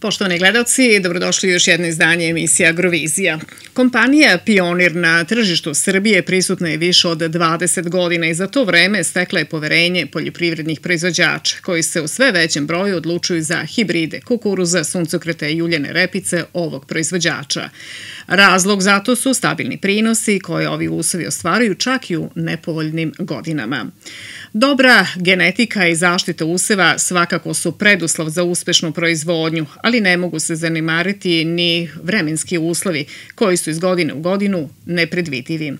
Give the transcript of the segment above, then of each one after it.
Poštovani gledalci, dobrodošli u još jedno izdanje emisije Agrovizija. Kompanija Pionir na tržištu Srbije prisutna je više od 20 godina i za to vreme stekla je poverenje poljoprivrednih proizvođača, koji se u sve većem broju odlučuju za hibride kukuruza, suncokreta i uljene repice ovog proizvođača. Razlog za to su stabilni prinosi koje ovi usovi ostvaruju čak i u nepovoljnim godinama. Dobra genetika i zaštita useva svakako su preduslov za uspešnu proizvodnju, ali ne mogu se zanimariti ni vremenski uslovi koji su iz godine u godinu nepredvidivi.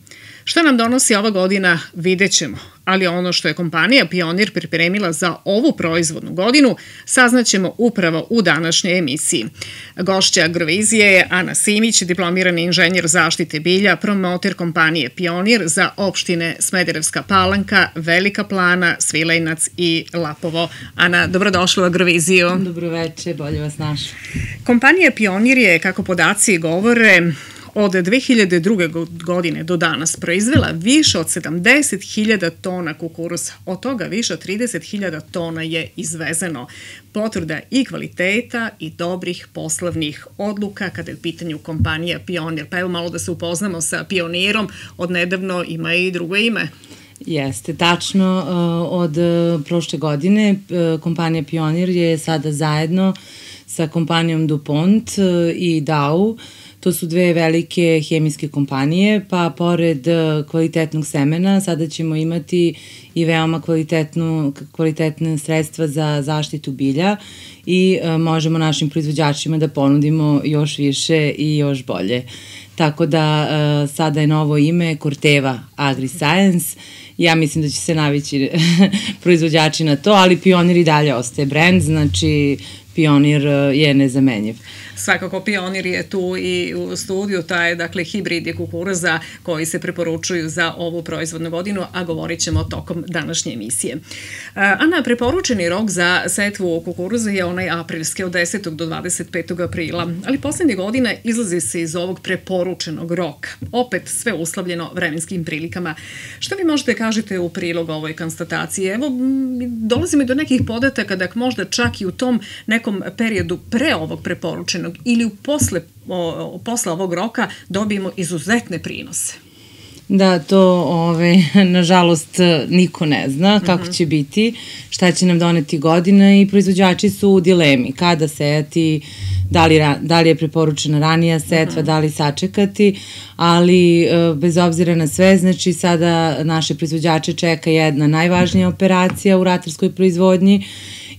Šta nam donosi ova godina vidjet ćemo, ali ono što je kompanija Pionir pripremila za ovu proizvodnu godinu saznaćemo upravo u današnjoj emisiji. Gošća Agrovizije je Ana Simić, diplomirani inženjer zaštite bilja, promoter kompanije Pionir za opštine Smederevska Palanka, Velika Plana, Svilajnac i Lapovo. Ana, dobrodošla u Agroviziju. Dobroveče, bolje vas našla. Kompanija Pionir je, kako podaci govore, od 2002. godine do danas proizvela više od 70.000 tona kukuruza. Od toga više od 30.000 tona je izvezeno. Potvrda i kvaliteta i dobrih poslovnih odluka kada je u pitanju kompanija Pionir. Pa evo malo da se upoznamo sa Pionirom. Odnedavno ima i drugo ime. Jeste, tačno. Od prošle godine kompanija Pionir je sada zajedno sa kompanijom DuPont i Dow. To su dve velike hemijske kompanije, pa pored kvalitetnog semena sada ćemo imati i veoma kvalitetne sredstva za zaštitu bilja i možemo našim proizvođačima da ponudimo još više i još bolje. Tako da sada je novo ime Corteva AgriScience. Ja mislim da će se navići proizvođači na to, ali Pionir i dalje ostaje brand, znači Pionir je nezamenjiv. Svakako Pionir je tu i u studiju, taj dakle hibridi kukuruza koji se preporučuju za ovu proizvodnu godinu, a govorit ćemo tokom današnje emisije. Ana, preporučeni rok za setvu kukuruza je onaj aprilski od 10. do 25. aprila, ali poslednje godine izlazi se iz ovog preporučenog roka. Opet sve uslovljeno vremenskim prilikama. Šta vi možete kažete u prilog ovoj konstataciji? Evo, dolazimo i do nekih podataka da možda čak i u tom nekom periodu pre ovog preporučenog ili posle ovog roka dobijemo izuzetne prinose. Da, to nažalost niko ne zna kako će biti, šta će nam doneti godina i proizvođači su u dilemi kada sejati, da li je preporučena ranija setva, da li sačekati, ali bez obzira na sve, znači sada naše proizvođače čeka jedna najvažnija operacija u ratarskoj proizvodnji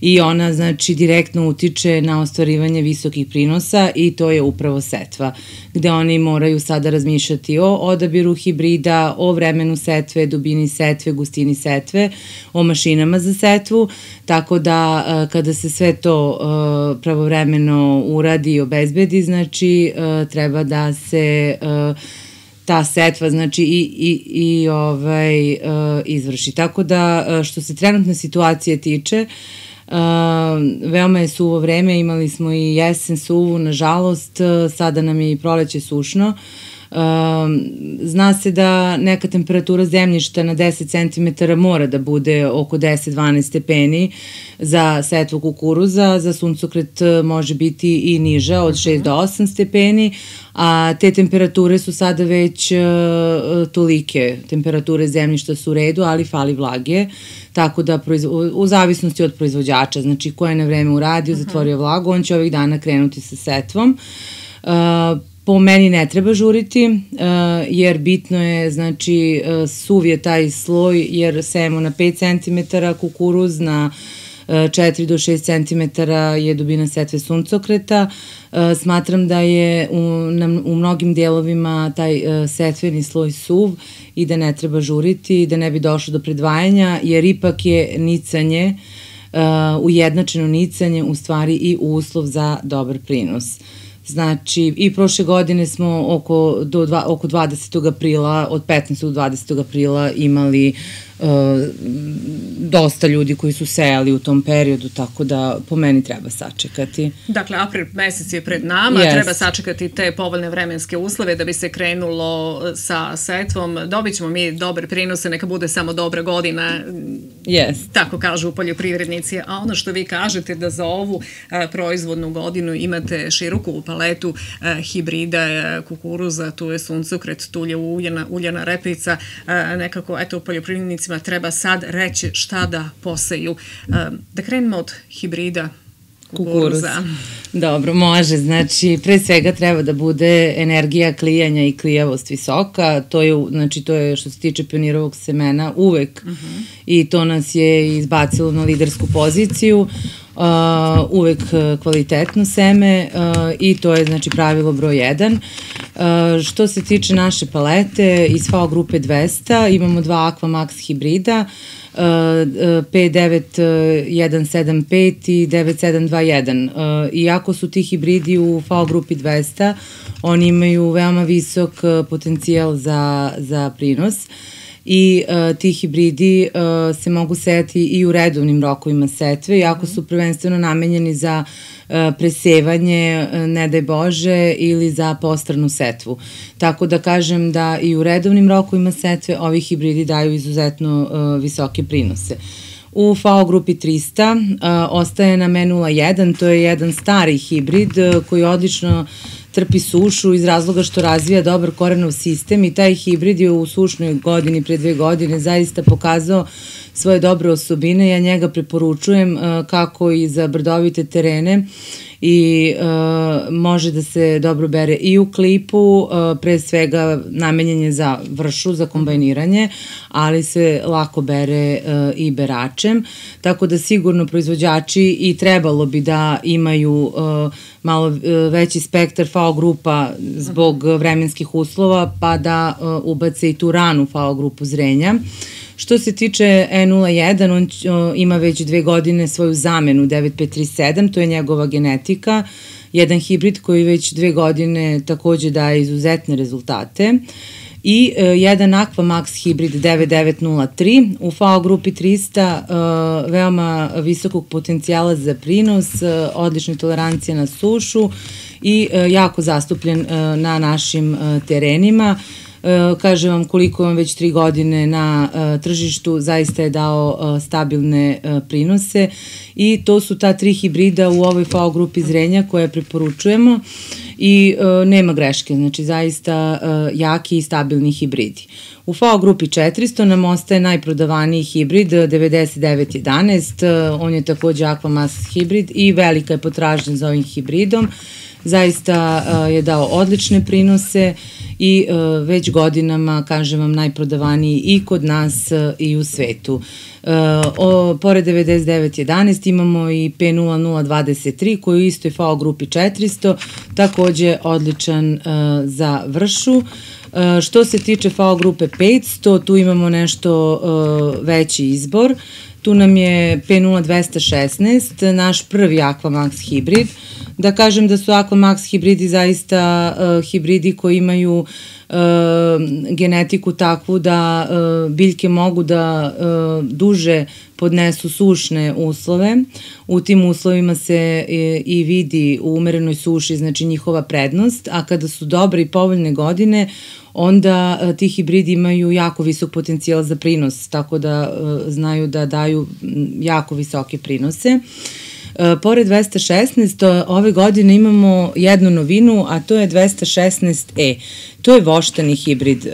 i ona znači direktno utiče na ostvarivanje visokih prinosa i to je upravo setva, gde oni moraju sada razmišljati o odabiru hibrida, o vremenu setve, dubini setve, gustini setve, o mašinama za setvu, tako da kada se sve to pravovremeno uradi i obezbedi, znači treba da se ta setva znači izvrši. Tako da što se trenutne situacije tiče, veoma je suvo vreme, imali smo i jesen suvu, nažalost, sada nam je i proleće sušno. Zna se da neka temperatura zemljišta na 10 cm mora da bude oko 10-12 stepeni za setvu kukuruza, za suncokret može biti i niža od 6 do 8 stepeni, a te temperature su sada već tolike, temperature zemljišta su u redu, ali fali vlage, tako da u zavisnosti od proizvođača, znači ko je na vreme uradio, zatvorio vlagu, on će ovih dana krenuti sa setvom. Po meni ne treba žuriti, jer bitno je, znači, suv je taj sloj, jer sejemo na 5 cm kukuruz, na 4 do 6 cm je dubina setve suncokreta. Smatram da je u mnogim delovima taj setveni sloj suv i da ne treba žuriti, da ne bi došlo do predvajanja, jer ipak je nicanje, ujednačeno nicanje, u stvari i uslov za dobar prinos. Znači, i prošle godine smo oko 20. aprila, od 15. do 20. aprila imali dosta ljudi koji su sejali u tom periodu, tako da po meni treba sačekati. Dakle, april mesec je pred nama, treba sačekati te povoljne vremenske uslove da bi se krenulo sa setvom. Dobit ćemo mi dobre prinose, neka bude samo dobra godina, tako kažu poljoprivrednici. A ono što vi kažete da za ovu proizvodnu godinu imate široku paletu hibrida kukuruza, tu je suncokret, tu je uljana repica, nekako, eto, poljoprivrednicima treba sad reći šta da poseju. Da krenemo od hibrida kukuruza. Dobro, može. Znači, pre svega treba da bude energija klijanja i klijavost visoka. To je što se tiče Pionirovog semena uvek i to nas je izbacilo na lidersku poziciju. Uvek kvalitetno seme i to je znači pravilo broj 1. Što se tiče naše palete, iz FAO grupe 200 imamo dva Aqua Max hibrida, P9175 i 9721. Iako su ti hibridi u FAO grupi 200, oni imaju veoma visok potencijal za prinos i ti hibridi se mogu sejati i u redovnim rokovima setve, iako su prvenstveno namenjeni za presevanje, ne daj Bože, ili za postranu setvu. Tako da kažem da i u redovnim rokovima setve ovi hibridi daju izuzetno visoke prinose. U FAO grupi 300 ostaje nam E01, to je jedan stari hibrid koji odlično trpi sušu iz razloga što razvija dobar korenov sistem i taj hibrid je u sušnoj godini, pre 2 godine, zaista pokazao svoje dobre osobine. Ja njega preporučujem kako i za brdovite terene i može da se dobro bere i u klipu, pre svega namenjen je za vršu, za kombajniranje, ali se lako bere i beračem, tako da sigurno proizvođači i trebalo bi da imaju malo veći spektar FAO grupa zbog vremenskih uslova, pa da ubace i tu ranu FAO grupu zrenja. Što se tiče E01, on ima već 2 godine svoju zamenu 9537, to je njegova genetika, jedan hibrid koji već 2 godine takođe daje izuzetne rezultate. I jedan Aqua Max hibrid 9903 u FAO grupi 300, veoma visokog potencijala za prinos, odlična tolerancija na sušu i jako zastupljen na našim terenima. Kažem vam koliko vam već 3 godine na tržištu, zaista je dao stabilne prinose i to su ta 3 hibrida u ovoj FAO grupi zrenja koje preporučujemo i nema greške, znači zaista jaki i stabilni hibridi. U FAO grupi 400 nam ostaje najprodavaniji hibrid 9911, on je takođe Aqua Max hibrid i velika je potražnja za ovim hibridom. Zaista je dao odlične prinose i već godinama, kažem vam, najprodavaniji i kod nas i u svetu. Pored 9911 imamo i P0023 koji je isto FAO grupi 400, takođe odličan za vršu. Što se tiče FAO grupe 500, tu imamo nešto veći izbor. Tu nam je P0216, naš prvi Aqua Max hibrid. Da kažem da su Aqua Max hibridi zaista hibridi koji imaju genetiku takvu da biljke mogu da duže podnesu sušne uslove. U tim uslovima se i vidi u umerenoj suši, znači njihova prednost, a kada su dobre i povoljne godine, onda ti hibridi imaju jako visok potencijal za prinos, tako da znaju da daju jako visoke prinose. Pored 216, ove godine imamo jednu novinu, a to je 216E. To je voštani hibrid,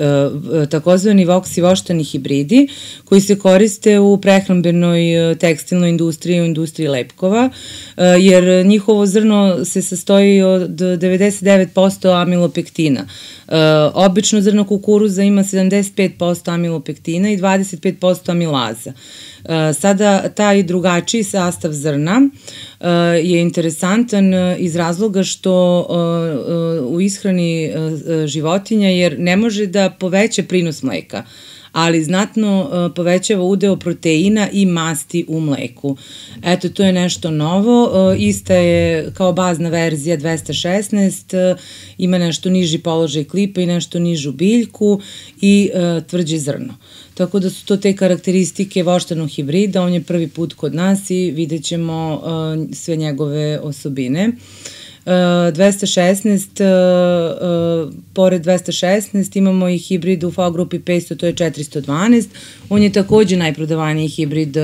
takozvani voksi voštani hibridi koji se koriste u prehrambenoj tekstilnoj industriji, u industriji lepkova, jer njihovo zrno se sastoji od 99% amilopektina. Obično zrno kukuruza ima 75% amilopektina i 25% amilaza. Sada taj drugačiji sastav zrna je interesantan iz razloga što u ishrani životinja, jer ne može da poveća prinos mleka, ali znatno povećava udeo proteina i masti u mleku. Eto, to je nešto novo. Ista je kao bazna verzija 216, ima nešto niži položaj klipa i nešto nižu biljku i tvrđe zrno. Tako da su to te karakteristike voštanog hibrida, on je prvi put kod nas i vidjet ćemo sve njegove osobine. 216, pored 216 imamo i hibrid u V grupi 500, to je 412. On je takođe najprodavaniji hibrid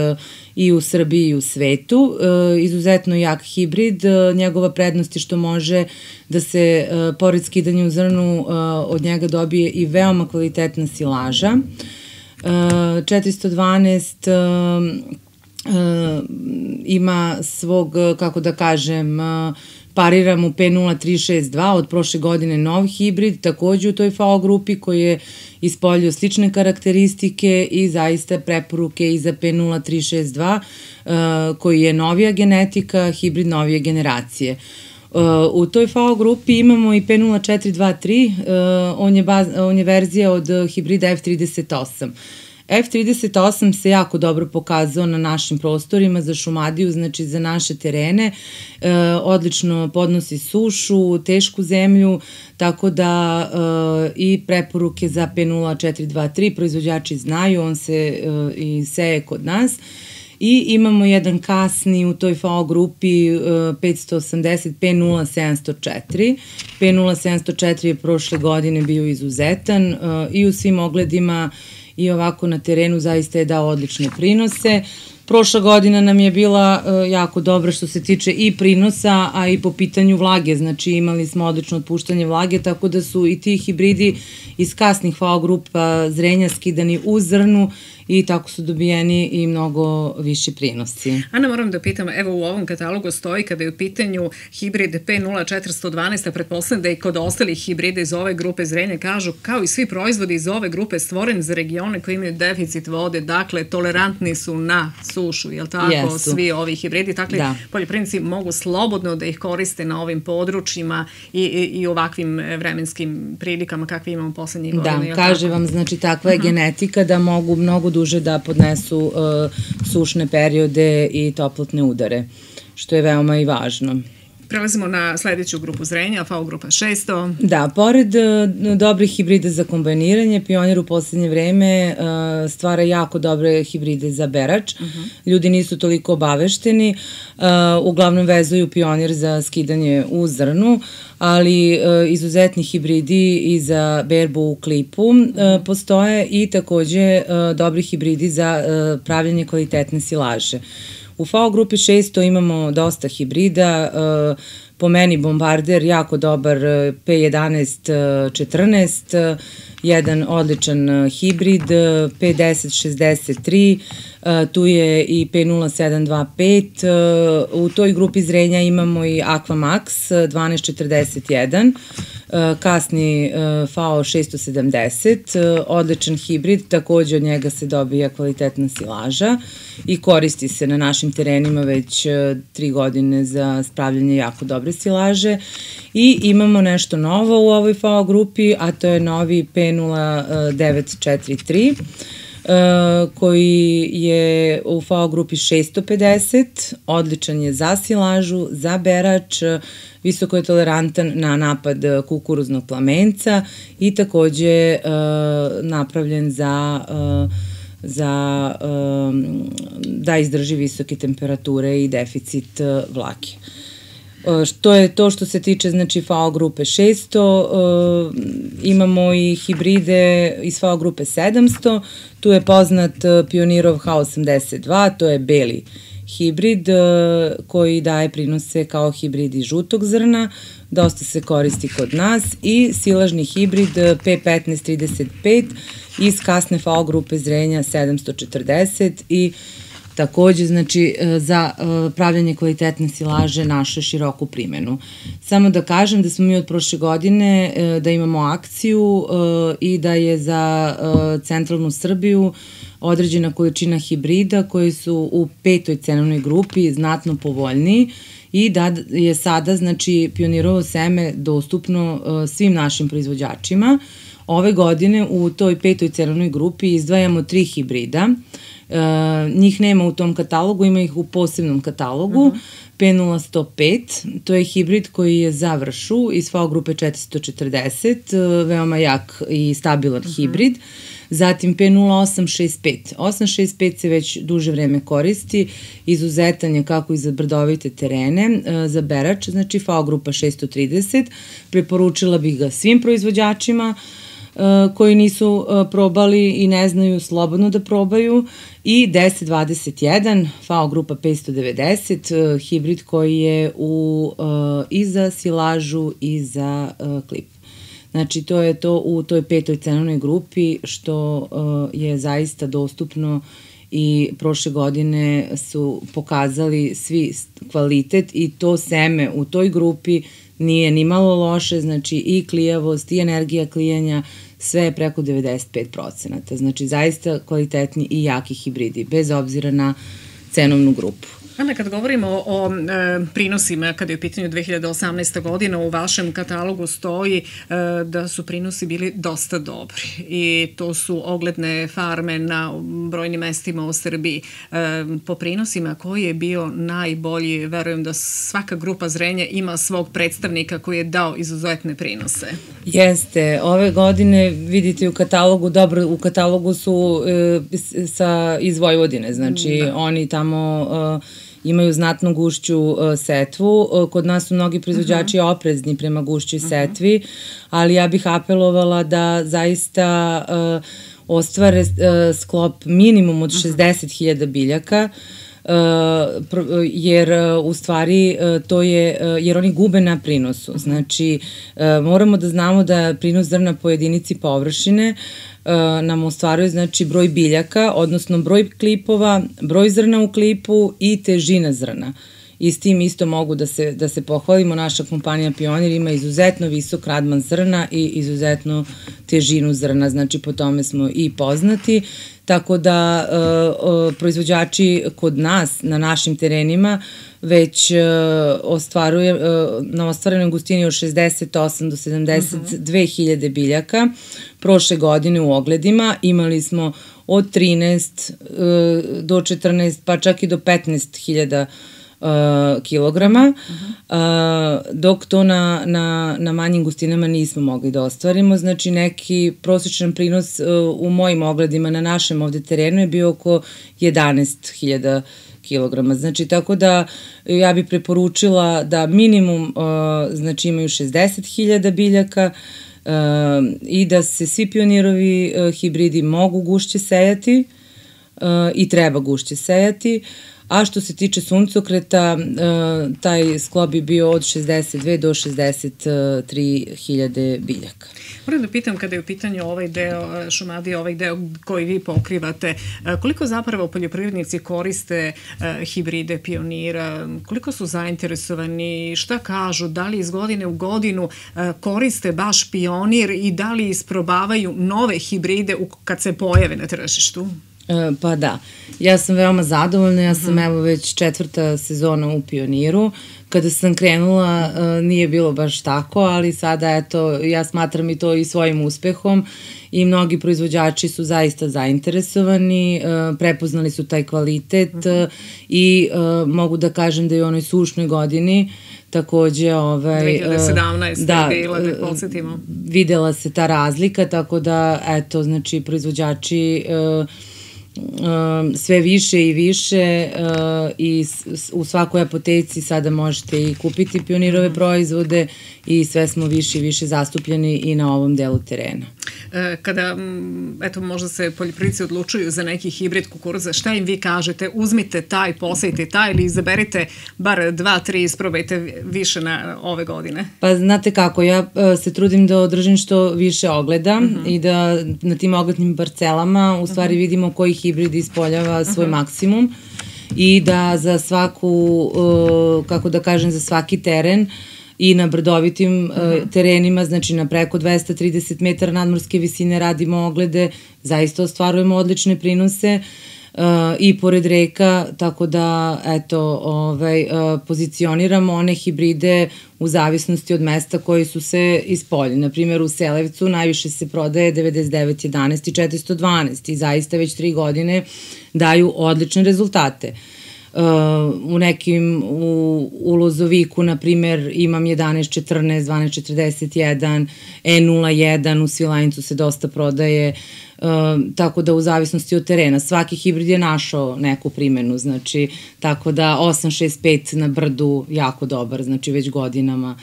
i u Srbiji i u svetu. Izuzetno jak hibrid, njegova prednost je što može da se, pored skidanja u zrnu, od njega dobije i veoma kvalitetna silaža. 412 ima svog, kako da kažem, parira mu P0362, od prošle godine nov hibrid, takođe u toj FAO grupi koji je ispoljio slične karakteristike i zaista preporuke i za P0362 koji je novija genetika, hibrid novije generacije. U toj FAO grupi imamo i P0423, on je verzija od hibrida F38. F38 se jako dobro pokazao na našim prostorima za Šumadiju, znači za naše terene, odlično podnosi sušu, tešku zemlju, tako da i preporuke za P0423 proizvođači znaju, on se i seje kod nas. I imamo jedan kasni u toj FAO grupi 580 P0704. P0704 je prošle godine bio izuzetan i u svim ogledima i ovako na terenu zaista je dao odlične prinose. Prošla godina nam je bila jako dobra što se tiče i prinosa, a i po pitanju vlage, znači imali smo odlično otpuštanje vlage, tako da su i ti hibridi iz kasnih FAO grupa zrenja skidani u zrnu i tako su dobijeni i mnogo viši prinosi. Ana, moram da pitam, evo u ovom katalogu stoji kada je u pitanju hibrid P0412, a pretpostavljam da i kod ostalih hibrida iz ove grupe zrenja kažu, kao i svi proizvodi iz ove grupe stvoren za regione koji imaju deficit vode, dakle tolerantni su na sušu, je li tako? Jesu. Svi ovi hibridi, dakle poljoprivrednici mogu slobodno da ih koriste na ovim područjima i ovakvim vremenskim prilikama kakve imamo poslednjih godina. Da, kaže vam, znači takva je genetika da mogu mnogo duže da podnesu sušne periode i toplotne udare, što je veoma i važno. Prelazimo na sledeću grupu zrenja, FAO grupa 600. Da, pored dobrih hibrida za kombajniranje, Pionir u poslednje vreme stvara jako dobre hibride za berač. Ljudi nisu toliko obavešteni, uglavnom vezuju Pionir za skidanje u zrnu, ali izuzetni hibridi i za berbu u klipu postoje i takođe dobri hibridi za pravljanje kvalitetne silaže. U FAO grupi 600 imamo dosta hibrida, po meni Bombarder jako dobar P1114, jedan odličan hibrid, P1063, tu je i P0725, u toj grupi zrenja imamo i Aquamax 1241, kasni FAO 670, odličan hibrid, takođe od njega se dobija kvalitetna silaža i koristi se na našim terenima već 3 godine za spravljanje jako dobre silaže. I imamo nešto novo u ovoj FAO grupi, a to je novi P0943, koji je u FAO grupi 650, odličan je za silažu, za berač, visoko je tolerantan na napad kukuruznog plamenca i takođe napravljen da izdrži visoke temperature i deficit vlage. To je to što se tiče, znači, FAO grupe 600, imamo i hibride iz FAO grupe 700, tu je poznat Pionirov H82, to je beli hibrid koji daje prinose kao hibrid iz žutog zrna, dosta se koristi kod nas, i silažni hibrid P1535 iz kasne FAO grupe zrenja 740 i takođe, znači, za pravljanje kvalitetne silaže naše široku primenu. Samo da kažem da smo mi od prošle godine da imamo akciju i da je za centralnu Srbiju određena količina hibrida koji su u 5. cenovnoj grupi znatno povoljniji i da je sada, znači, Pionirovo seme dostupno svim našim proizvođačima. Ove godine u toj 5. cenovnoj grupi izdvajamo 3 hibrida. Njih nema u tom katalogu, ima ih u posebnom katalogu. P0105, to je hibrid koji je za vršu iz FAO grupe 440, veoma jak i stabilan hibrid. Zatim P0865. 865 se već duže vreme koristi, izuzetan je kako i za brdovite terene, za berač, znači FAO grupa 630. Preporučila bih ga svim proizvođačima koji nisu probali i ne znaju, slobodno da probaju, i 1021, FAO grupa 590, hibrid koji je i za silažu i za klip. Znači, to je to u toj 5. cenovnoj grupi što je zaista dostupno i prošle godine su pokazali svi kvalitet i to seme u toj grupi nije ni malo loše, znači i klijavost i energija klijanja, sve je preko 95%. Znači, zaista kvalitetni i jaki hibridi, bez obzira na cenovnu grupu. Ana, kad govorimo o prinosima, kada je u pitanju 2018. godina, u vašem katalogu stoji da su prinosi bili dosta dobri i to su ogledne farme na brojnim mestima u Srbiji. Po prinosima, koji je bio najbolji? Verujem da svaka grupa zrenja ima svog predstavnika koji je dao izuzetne prinose. Jeste, ove godine vidite u katalogu, dobro, u katalogu su iz Vojvodine, znači oni tamo imaju znatno gušću setvu. Kod nas su mnogi proizvođači oprezni prema gušćoj setvi, ali ja bih apelovala da zaista ostvare sklop minimum od 60.000 biljaka, jer u stvari to je, jer oni gube na prinosu. Znači, moramo da znamo da prinos zrna po jedinici površine nam ostvaruje, znači, broj biljaka, odnosno broj klipova, broj zrna u klipu i težina zrna. I s tim isto mogu da se pohvalimo. Naša kompanija Pionir ima izuzetno visok radman zrna i izuzetno težinu zrna, znači po tome smo i poznati. Tako da proizvođači kod nas, na našim terenima, već na ostvarenoj gustini od 68 do 72.000 biljaka. Prošle godine u ogledima imali smo od 13 do 14, pa čak i do 15.000 kilograma, dok to na manjim gustinama nismo mogli da ostvarimo. Znači, neki prosječan prinos u mojim ogledima na našem ovde terenu je bio oko 11.000 kilograma. Znači, tako da ja bih preporučila da minimum, znači, imaju 60.000 biljaka i da se svi Pionirovi hibridi mogu gušće sejati i treba gušće sejati. A što se tiče suncokreta, taj sklop bi bio od 62 do 63.000 biljaka. Moram da pitam, kada je u pitanju ovaj deo Šumadije, ovaj deo koji vi pokrivate, koliko zapravo poljoprivrednici koriste hibride Pionira, koliko su zainteresovani, šta kažu, da li iz godine u godinu koriste baš Pionir i da li isprobavaju nove hibride kad se pojave na tržištu? Pa da, ja sam veoma zadovoljna, ja sam evo već 4. sezona u Pioniru. Kada sam krenula nije bilo baš tako, ali sada eto, ja smatram i to i svojim uspehom i mnogi proizvođači su zaista zainteresovani, prepoznali su taj kvalitet i mogu da kažem da je u onoj sušnoj godini takođe 2017. je bila, da podsjetimo. Videla se ta razlika, tako da eto, znači proizvođači sve više i više i u svakoj apoteci sada možete i kupiti Pionirove proizvode i sve smo više i više zastupljeni i na ovom delu terena. Kada, eto, možda se poljoprivrednici odlučuju za neki hibrid kukuruza, šta im vi kažete? Uzmite taj, posejte taj ili izaberite bar 2-3, isprobajte više na ove godine? Pa znate kako, ja se trudim da održim što više ogleda i da na tim oglednim parcelama u stvari vidimo koji hibrid ispoljava svoj maksimum i da za svaku, kako da kažem, za svaki teren i na brdovitim terenima, znači na preko 230 metara nadmorske visine radimo oglede, zaista ostvarujemo odlične prinose. i pored reka, tako da pozicioniramo one hibride u zavisnosti od mesta koji su se ispoljili. Naprimjer, u Selevcu najviše se prodaje 9911 i 412 i zaista već 3 godine daju odlične rezultate. U Lozoviku, na primjer, imam 1114, 1241, E01, u Svilajncu se dosta prodaje, tako da u zavisnosti od terena. Svaki hibrid je našao neku primenu, znači, tako da 865 na Brdu jako dobar, znači već godinama.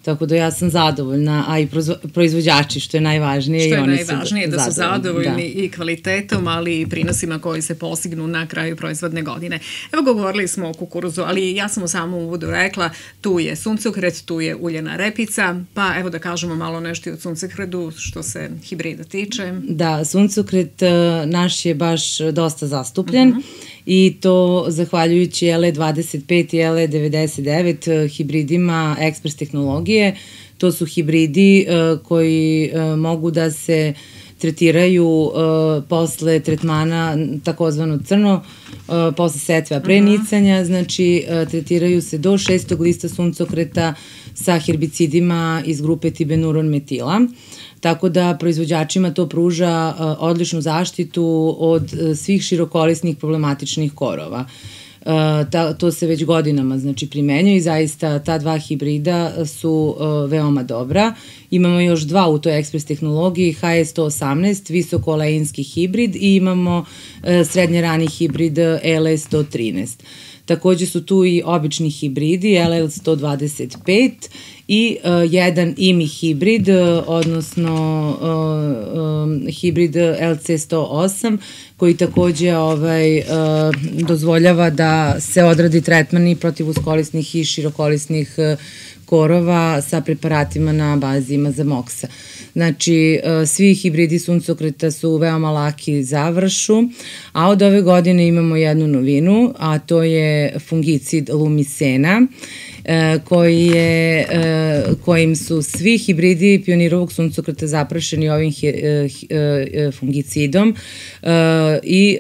Tako da ja sam zadovoljna, a i proizvođači, što je najvažnije. Što je najvažnije, da su zadovoljni i kvalitetom, ali i prinosima koji se postignu na kraju proizvodne godine. Evo, govorili smo o kukuruzu, ali ja sam u samom uvodu rekla, tu je suncokret, tu je uljena repica, pa evo da kažemo malo nešto i o suncokretu što se hibrida tiče. Da, suncokret naš je baš dosta zastupljen. I to zahvaljujući LE25 i LE99 hibridima ekspres tehnologije. To su hibridi koji mogu da se tretiraju posle tretmana takozvano crno, posle setve, a pre nicanja, znači tretiraju se do 6. lista suncokreta sa herbicidima iz grupe tibenuron metila. Tako da proizvođačima to pruža odličnu zaštitu od svih širokolisnih problematičnih korova. To se već godinama primenjuje i zaista ta dva hibrida su veoma dobra. Imamo još dva u toj ekspres tehnologiji, HE118, visokoleinski hibrid i imamo srednje rani hibrid LE113. Takođe su tu i obični hibridi, LL125 i jedan IMI hibrid, odnosno hibrid LC108, koji takođe dozvoljava da se odradi tretmani protiv uskolisnih i širokolisnih korova sa preparatima na bazi mazamoksa. Znači, svi hibridi suncokreta su veoma laki za vršu, a od ove godine imamo jednu novinu, a to je fungicid Lumisena, kojim su svi hibridi pionirovog suncokreta zaprašeni ovim fungicidom i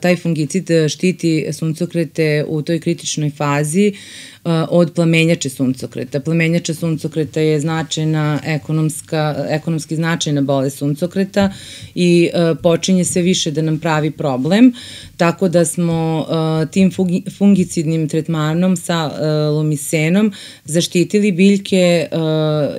taj fungicid štiti suncokrete u toj kritičnoj fazi od plamenjače suncokreta. Plamenjača suncokreta je ekonomski značajna bolest suncokreta i počinje sve više da nam pravi problem, tako da smo tim fungicidnim tretmanom sa lumisenom zaštitili biljke,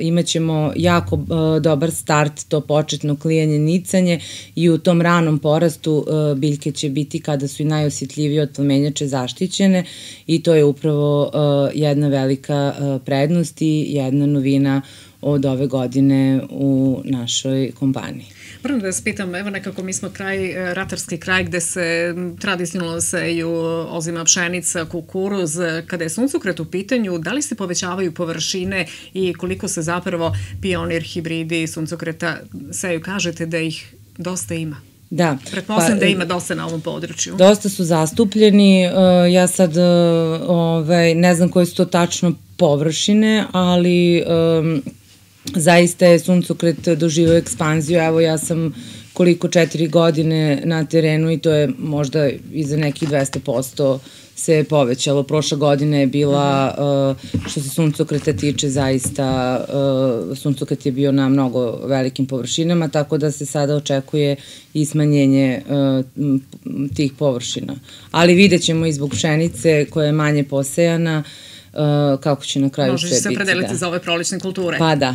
imaćemo jako dobar start, to početno klijanje, nicanje i u tom ranom porastu biljke će biti, kada su i najosjetljivije od plamenjače, zaštićene i to je upravo jedna velika prednost i jedna novina od ove godine u našoj kompaniji. Moram da vas pitam, evo nekako mi smo ratarski kraj gde se tradicionalno seju ozima pšenica, kukuruz. Kada je suncokret u pitanju, da li se povećavaju površine i koliko se zapravo pionir hibridi suncokreta seju? Kažete da ih dosta ima. Da. Pretpostavljam da ima dosta na ovom području. Dosta su zastupljeni, ja sad ne znam koje su to tačno površine, ali zaista je suncokret doživio ekspanziju. Evo, ja sam 4 godine na terenu i to je možda i za nekih 200% se povećalo. Prošla godina je bila, što se suncokreta tiče, zaista suncokret je bio na mnogo velikim površinama, tako da se sada očekuje i smanjenje tih površina. Ali vidjet ćemo i zbog pšenice koja je manje posejana, kako će na kraju sve biti. Možeš se opredeliti za ove prolećne kulture. Pa da.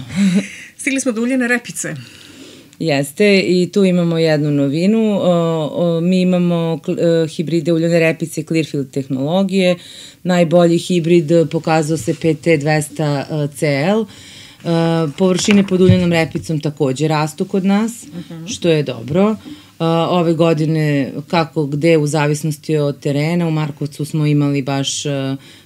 Stigli smo do uljene repice. Jeste, i tu imamo jednu novinu. Mi imamo hibride uljene repice Clearfield tehnologije. Najbolji hibrid pokazao se PT200CL. Površine pod uljenom repicom takođe rastu kod nas, što je dobro. Ove godine, kako gde, u zavisnosti od terena, u Markovcu smo imali baš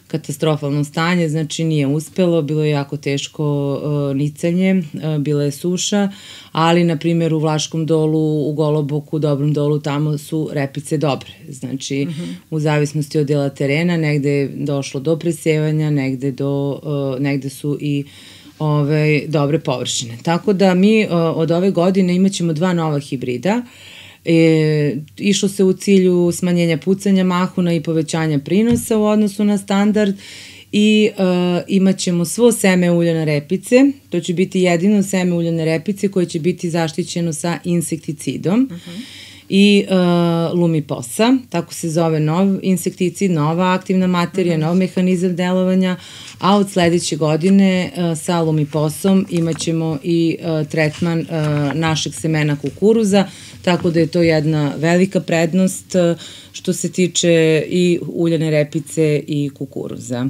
katastrofalno stanje, znači nije uspelo, bilo je jako teško nicanje, bila je suša, ali na primjer u Vlaškom dolu, u Goloboku, u Dobrom dolu, tamo su repice dobre. Znači u zavisnosti od dela terena, negde je došlo do presevanja, negde su i dobre površine. Tako da mi od ove godine imaćemo 2 nova hibrida. Išlo se u cilju smanjenja pucanja mahuna i povećanja prinosa u odnosu na standard i imat ćemo svo seme uljane repice. To će biti jedino seme uljane repice koje će biti zaštićeno sa insekticidom. I Lumiposa, tako se zove nov insekticid, nova aktivna materija, nov mehanizam delovanja, a od sledeće godine sa Lumiposom imat ćemo i tretman našeg semena kukuruza, tako da je to jedna velika prednost što se tiče i uljane repice i kukuruza.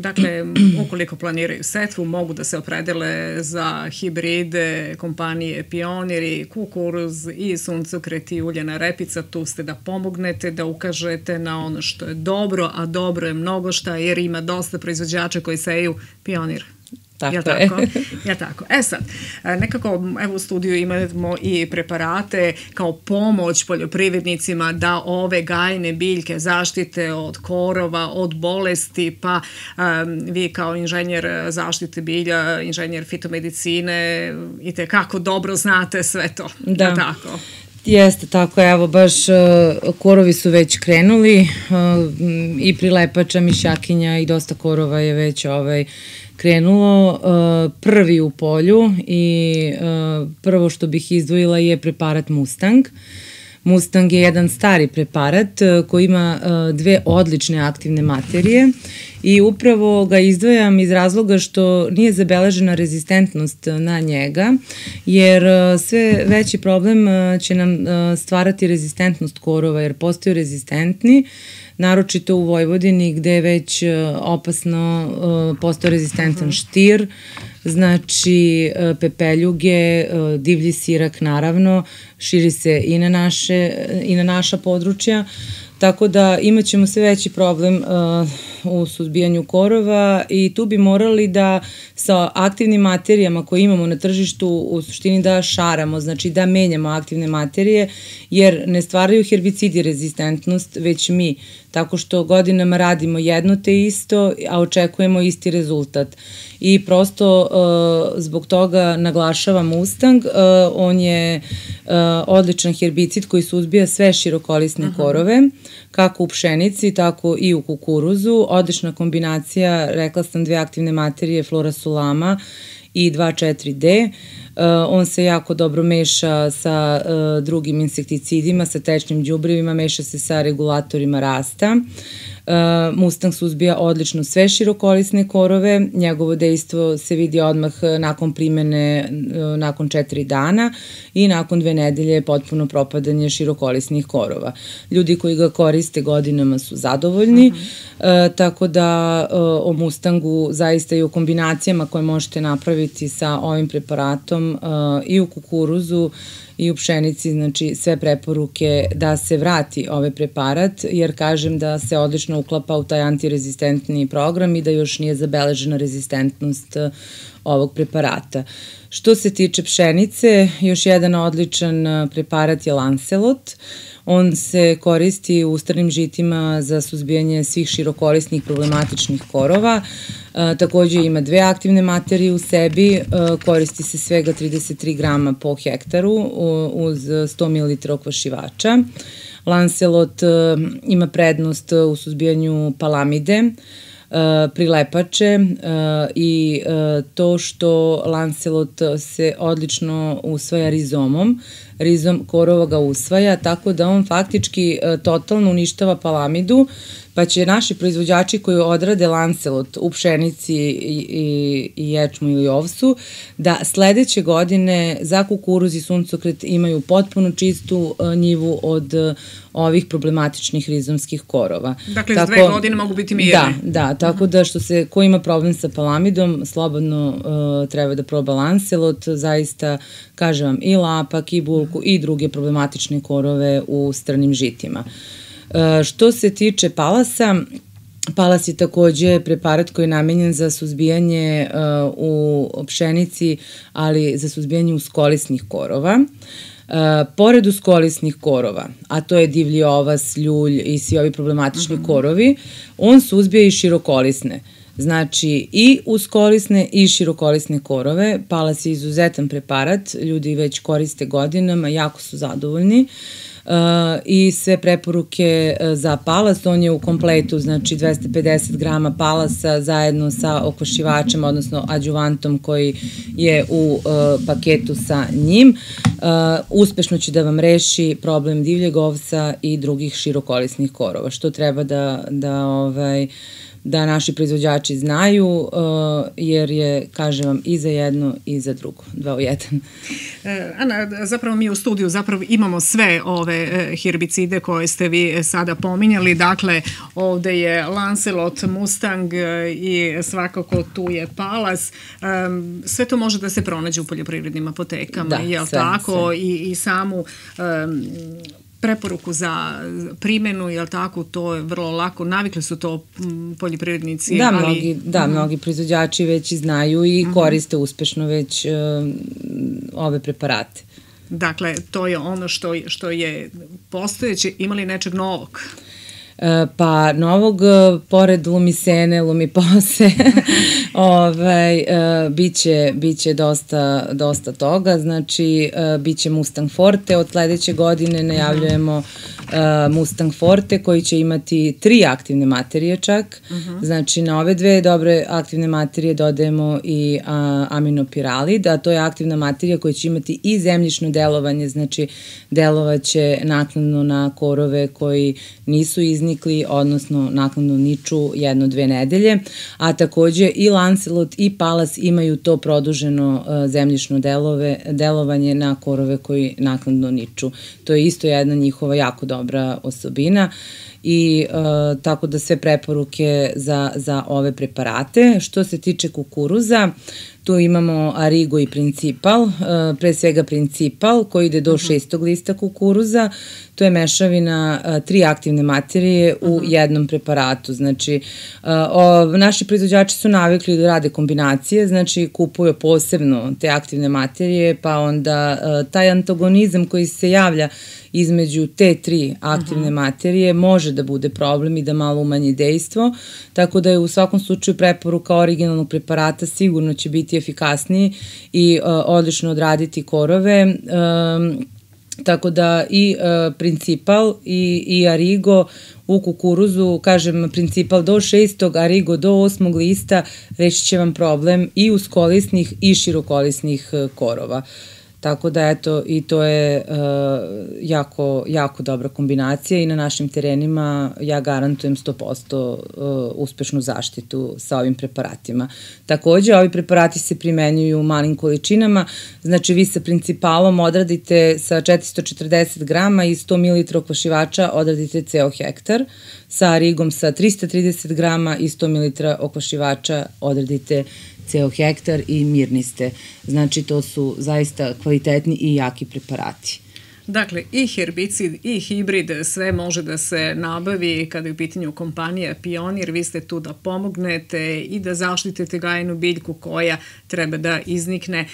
Dakle, ukoliko planiraju setvu, mogu da se opredele za hibride kompanije Pionir i kukuruz i suncokret i uljana repica. Tu ste da pomognete, da ukažete na ono što je dobro, a dobro je mnogo šta, jer ima dosta proizvođača koji seju Pionir. Tako je. Tako. Sad, nekako evo u studiju imamo i preparate kao pomoć poljoprivrednicima da ove gajne biljke zaštite od korova, od bolesti, pa vi kao inženjer zaštite bilja, inženjer fitomedicine i tekako dobro znate sve to. Da. Tako? Jeste, tako, evo, baš korovi su već krenuli i prilepača, mišakinja i dosta korova je već krenulo. Prvi u polju i prvo što bih izdvojila je preparat Mustang. Mustang je jedan stari preparat koji ima dve odlične aktivne materije i upravo ga izdvajam iz razloga što nije zabeležena rezistentnost na njega, jer sve veći problem će nam stvarati rezistentnost korova, jer postaju rezistentni, naročito u Vojvodini gde je već opasno postao rezistentan štir, znači pepeljuge, divlji sirak naravno, širi se i na naša područja, tako da imat ćemo sve veći problem u suzbijanju korova i tu bi morali da sa aktivnim materijama koje imamo na tržištu u suštini da šaramo, znači da menjamo aktivne materije, jer ne stvaraju herbicidi rezistentnost, već mi, tako što godinama radimo jedno te isto, a očekujemo isti rezultat. I prosto zbog toga naglašavam Mustang, on je odličan herbicid koji suzbija sve širokolisne korove, kako u pšenici, tako i u kukuruzu. Odlična kombinacija, rekla sam, dve aktivne materije, Florasulama i 2,4-D. On se jako dobro meša sa drugim insekticidima, sa tečnim đubrevima, meša se sa regulatorima rasta. Mustang suzbija odlično sve širokolisne korove, njegovo dejstvo se vidi odmah nakon primene, nakon 4 dana i nakon 2 nedelje potpuno propadanje širokolisnih korova. Ljudi koji ga koriste godinama su zadovoljni, tako da o Mustangu zaista i o kombinacijama koje možete napraviti sa ovim preparatom i u kukuruzu i u pšenici, znači sve preporuke da se vrati ovaj preparat, jer kažem da se odlično uklapa u taj antirezistentni program i da još nije zabeležena rezistentnost ovog preparata. Što se tiče pšenice, još jedan odličan preparat je Lancelot. On se koristi u ustrnim žitima za suzbijanje svih širokolisnih problematičnih korova. Takođe ima dve aktivne materije u sebi, koristi se svega 33 grama po hektaru uz 100 ml okvašivača. Lancelot ima prednost u suzbijanju palamide, prilepače i to što Lancelot se odlično usvaja rizomom. Rizom korova ga usvaja, tako da on faktički totalno uništava palamidu, pa će naši proizvođači koji odrade Lancelot u pšenici i ječmu ili ovsu, da sledeće godine za kukuruz i suncokret imaju potpuno čistu njivu od ovih problematičnih rizomskih korova. Dakle, iz 2 godine mogu biti mirni. Da, tako da ko ima problem sa palamidom, slobodno treba da proba Lancelot, zaista, kažem vam, i lapak, i bulku, i druge problematične korove u strnim žitima. Što se tiče Palasa, Palas je takođe preparat koji je namenjen za suzbijanje u pšenici, ali za suzbijanje uskolisnih korova. Pored uskolisnih korova, a to je divlji ovas, ljulj i svi ovi problematični korovi, on suzbija i širokolisne. Znači i uskolisne i širokolisne korove. Palas je izuzetan preparat, ljudi već koriste godinama, jako su zadovoljni. I sve preporuke za palas, on je u kompletu, znači 250 grama palasa zajedno sa okvašivačem, odnosno adjuvantom koji je u paketu sa njim. Uspešno će da vam reši problem divljeg ovsa i drugih širokolisnih korova, što treba da naši proizvođači znaju, jer je, kažem vam, i za jedno i za drugo, 2 u 1. Ana, zapravo mi u studiju imamo sve ove herbicide koje ste vi sada pominjali, dakle ovde je Lancelot, Mustang i svakako tu je Palas. Sve to može da se pronađe u poljoprivrednim apotekama, je li tako? I samu preporuku za primjenu, je li tako, to je vrlo lako, navikli su to poljoprivrednici. Da, mnogi proizvođači već znaju i koriste uspešno već ove preparate. Dakle, to je ono što je postojeće. Ima li nečeg novog? Pa novog, pored lumisene, lumipose, biće dosta toga, znači biće Mustang Forte, od sledeće godine najavljujemo Mustang Forte koji će imati 3 aktivne materije čak, znači na ove 2 dobre aktivne materije dodajemo i aminopiralid, a to je aktivna materija koja će imati i zemljišno delovanje, znači delovaće naknadno na korove koji nisu iznikli, odnosno naknadno niču 1-2 nedelje, a takođe i Lancelot i Palas imaju to produženo zemljišno delovanje na korove koji naknadno niču. To je isto jedna njihova jako dobra osobina i tako da sve preporuke za ove preparate. Što se tiče kukuruza, tu imamo Arigo i Principal, pre svega Principal koji ide do 6. lista kukuruza. To je mešavina 3 aktivne materije u jednom preparatu. Znači, naši proizvođači su navikli da rade kombinacije, znači kupuju posebno te aktivne materije, pa onda taj antagonizam koji se javlja između te 3 aktivne materije može da bude problem i da malo umanji dejstvo, tako da je u svakom slučaju preporuka originalnog preparata sigurno će biti efikasniji i odlično odraditi korove. Tako da i Principal i Arigo u kukuruzu, kažem Principal do 6. Arigo do 8. lista, rešit će vam problem i uskolisnih i širokolisnih korova. Tako da eto, i to je jako dobra kombinacija i na našim terenima ja garantujem 100% uspešnu zaštitu sa ovim preparatima. Takođe, ovi preparati se primenjuju u malim količinama, znači vi sa Principalom odradite sa 440 grama i 100 ml okvašivača odradite ceo hektar, sa Arigom sa 330 grama i 100 ml okvašivača odradite ceo hektar i mirni ste. Znači, to su zaista kvalitetni i jaki preparati. Dakle, i herbicid i hibrid, sve može da se nabavi kada je u pitanju kompanija Pionir. Vi ste tu da pomognete i da zaštitite gajenu biljku koja treba da iznikne.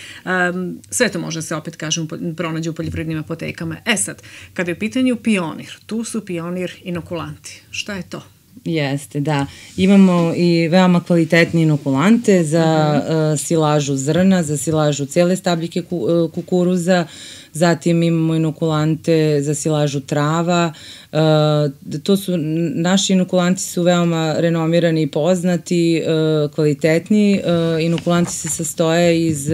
Sve to može se, opet kažem, pronađe u poljoprivrednim apotekama. Sad, kada je u pitanju Pionir, tu su Pionir inokulanti. Šta je to? Jeste, da. Imamo i veoma kvalitetne inokulante za silažu zrna, za silažu cele stabljike kukuruza, zatim imamo inokulante za silažu trava. Naši inokulanti su veoma renomirani i poznati, kvalitetni. Inokulanti se sastoje iz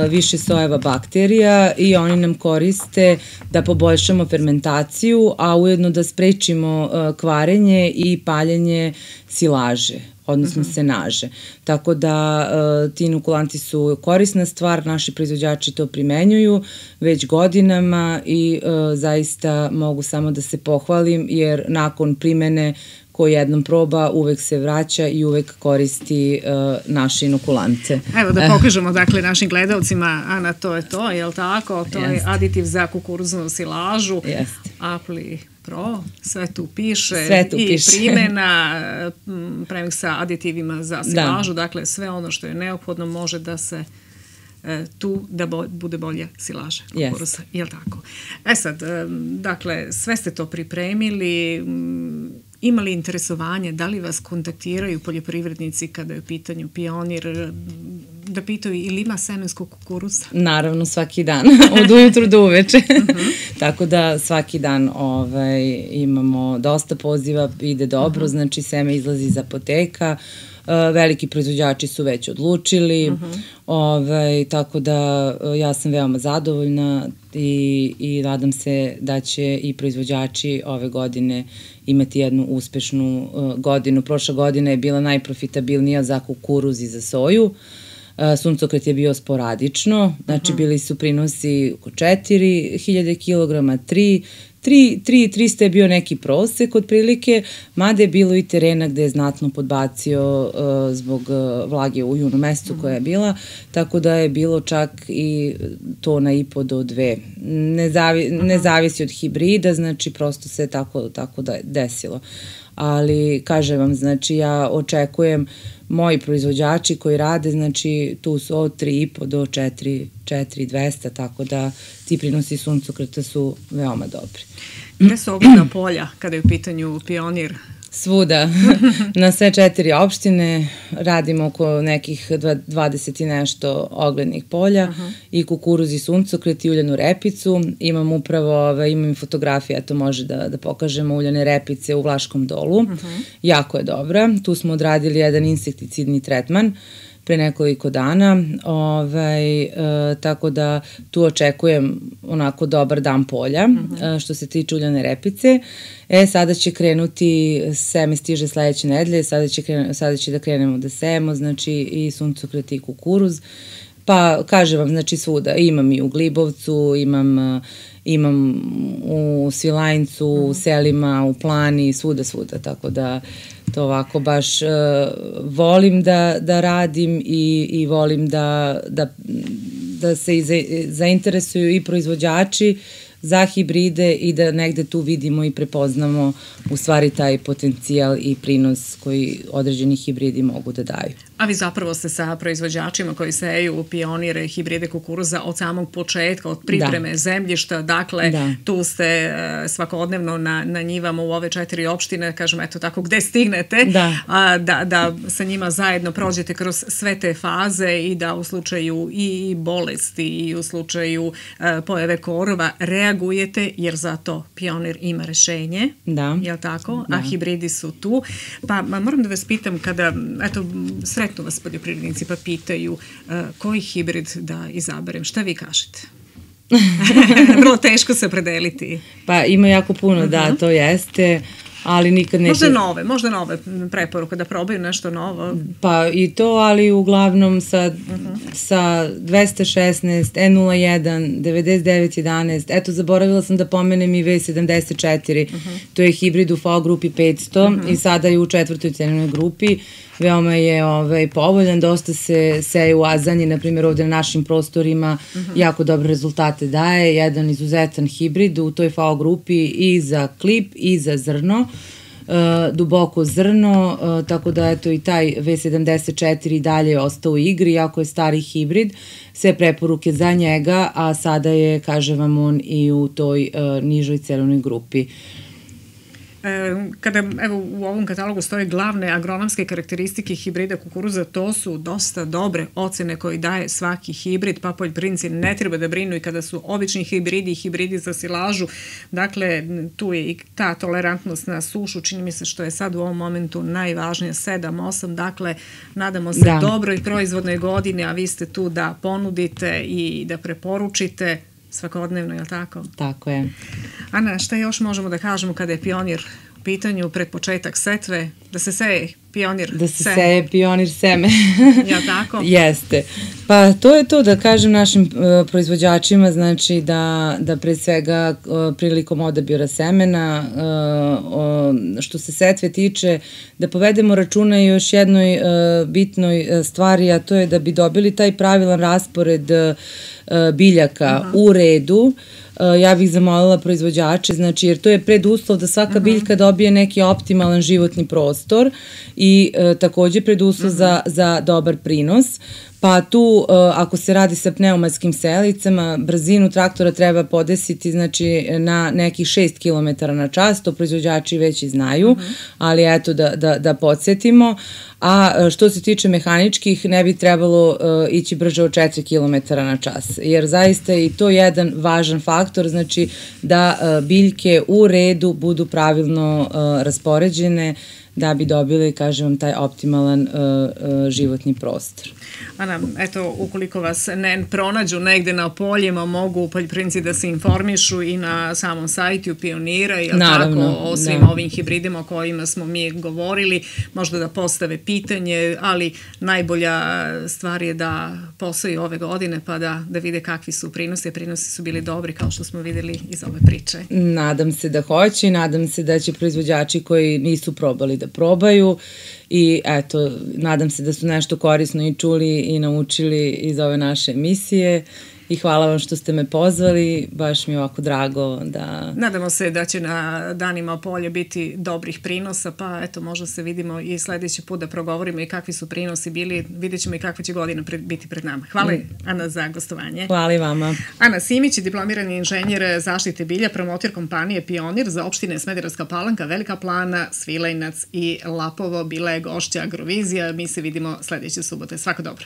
više sojeva bakterija i oni nam koriste da poboljšamo fermentaciju, a ujedno da sprečimo kvarenje i paljenje silaže, odnosno senaže. Tako da ti inokulanti su korisna stvar, naši proizvođači to primenjuju već godinama i zaista mogu samo da se pohvalim, jer nakon primene ko jednom proba, uvek se vraća i uvek koristi naše inokulante. Evo da pokažemo dakle našim gledalcima, Ana, to je to, je li tako? To je aditiv za kukuruznu silažu. Apli Pro, sve tu piše i primjena premiksa aditivima za silažu, dakle sve ono što je neophodno može da se tu da bude bolja silaža kukuruza, je li tako? Sad, dakle, sve ste to pripremili Ima li interesovanje, da li vas kontaktiraju poljoprivrednici kada je u pitanju Pionir, da pitaju ili ima semenskog kukuruza? Naravno, svaki dan, od ujutru do uveče. Tako da svaki dan imamo dosta poziva, ide dobro, znači seme izlazi iz apoteka, veliki proizvođači su već odlučili, tako da ja sam veoma zadovoljna i nadam se da će i proizvođači ove godine imati jednu uspešnu godinu. Prošla godina je bila najprofitabilnija za kukuruz i za soju. Suncokret je bio sporadično, znači bili su prinosi oko 4000 kg, 300 je bio neki prosek otprilike, mada je bilo i terena gde je znatno podbacio zbog vlage u junu mesecu koja je bila, tako da je bilo čak i tona i po do 2. Ne zavisi od hibrida, znači prosto se tako da desilo. Ali, kažem vam, znači ja očekujem moji proizvođači koji rade, znači tu su od 3,5 do 4,200, tako da ti prinosi suncokreta su veoma dobri. Gde su ogledna polja kada je u pitanju Pionir? Svuda, na sve 4 opštine radimo oko nekih 20 i nešto oglednih polja i kukuruz i suncokret i uljanu repicu. Imam upravo, imam fotografije, to može da pokažemo, uljane repice u Vlaškom Dolu. Jako je dobra. Tu smo odradili jedan insekticidni tretman pre nekoliko dana, tako da tu očekujem onako dobar dan polja što se tiče uljane repice. Sada će krenuti, seme stiže sledeće nedelje, sada će da krenemo da sejemo, znači i suncokret i kukuruz. Pa kažem vam, znači svuda, imam i u Glibovcu, imam u Svilajncu, u selima, u Plani, svuda, tako da to ovako baš volim da radim i volim da se zainteresuju i proizvođači za hibride i da negde tu vidimo i prepoznamo u stvari taj potencijal i prinos koji određeni hibridi mogu da daju. A vi zapravo ste sa proizvođačima koji seju Pionire, hibride kukuruza od samog početka, od pripreme zemljišta, dakle tu ste svakodnevno na njivama u ove 4 opštine, kažem eto tako gde stignete, da sa njima zajedno prođete kroz sve te faze i da u slučaju i bolesti i u slučaju pojave korova reagujete, jer zato Pionir ima rešenje, jel tako? A hibridi su tu. Pa moram da vas pitam, kada, eto, sretnu vas poljoprivrednici pa pitaju koji hibrid da izaberem, šta vi kažete? Vrlo teško se opredeliti. Pa ima jako puno, da, to jeste, ali nikad neće... Možda nove preporuke, da probaju nešto novo. Pa i to, ali uglavnom sa 216, E01, 9911, eto zaboravila sam da pomenem i V74, to je hibrid u FAO grupi 500 i sada je u 4. cenovnoj grupi. Veoma je povoljan, dosta se seje u Azanji, na primjer ovde na našim prostorima, jako dobre rezultate daje, jedan izuzetan hibrid u toj FAO grupi i za klip i za zrno, duboko zrno, tako da eto i taj V74 dalje je ostao u igri, jako je stari hibrid, sve preporuke za njega, a sada je, kažem vam, on i u toj nižoj cenovnoj grupi. Kada u ovom katalogu stoje glavne agronomske karakteristike hibrida kukuruza, to su dosta dobre ocene koje daje svaki hibrid, pa poljoprivrednici ne treba da brinu i kada su obični hibridi i hibridi za silažu. Dakle, tu je i ta tolerantnost na sušu, čini mi se što je sad u ovom momentu najvažnije, 7-8, dakle, nadamo se dobroj proizvodnoj godini, a vi ste tu da ponudite i da preporučite svakodnevno, je li tako? Tako je. Ana, šta još možemo da kažemo kada je Pionir u pitanju pred početak setve, da se seje Pionir seme? Da se seje Pionir seme. Ja tako? Jeste. Pa to je to, da kažem našim proizvođačima, znači da pre svega prilikom odabira semena, što se setve tiče, da povedemo računa i još jednoj bitnoj stvari, a to je da bi dobili taj pravilan raspored biljaka u redu, ja bih zamolila proizvođače, znači jer to je preduslov da svaka biljka dobije neki optimalan životni prostor i takođe preduslov za dobar prinos. Pa tu, ako se radi sa pneumatskim selicama, brzinu traktora treba podesiti znači, na nekih 6 km na čas, to proizvođači već i znaju, ali eto da podsjetimo. A što se tiče mehaničkih, ne bi trebalo ići brže od 4 km na čas, jer zaista je i to jedan važan faktor, znači da biljke u redu budu pravilno raspoređene, da bi dobili, kažem vam, taj optimalan životni prostor. Ana, eto, ukoliko vas ne pronađu negde na poljima, mogu poljoprivrednici da se informišu i na samom sajtu Pionira, jel tako, o svim ovim hibridima o kojima smo mi govorili, možda da postave pitanje, ali najbolja stvar je da posaju ove godine pa da vide kakvi su prinosi. Prinosi su bili dobri, kao što smo videli iz ove priče. Nadam se da hoće i nadam se da će proizvođači koji nisu probali da probaju i eto, nadam se da su nešto korisno i čuli i naučili iz ove naše emisije i hvala vam što ste me pozvali, baš mi je ovako drago da... Nadamo se da će na danima polja biti dobrih prinosa, pa eto, možda se vidimo i sledeći put da progovorimo i kakvi su prinosi bili, vidjet ćemo i kakva će godina biti pred nama. Hvala Ana za gostovanje. Hvala i vama. Ana Simić, diplomirani inženjer zaštite bilja, promotor kompanije Pionir za opštine Smederevska Palanka, Velika Plana, Svilajnac i Lapovo, bila je gošća Agrovizija. Mi se vidimo sledeće subote. Svako dobro.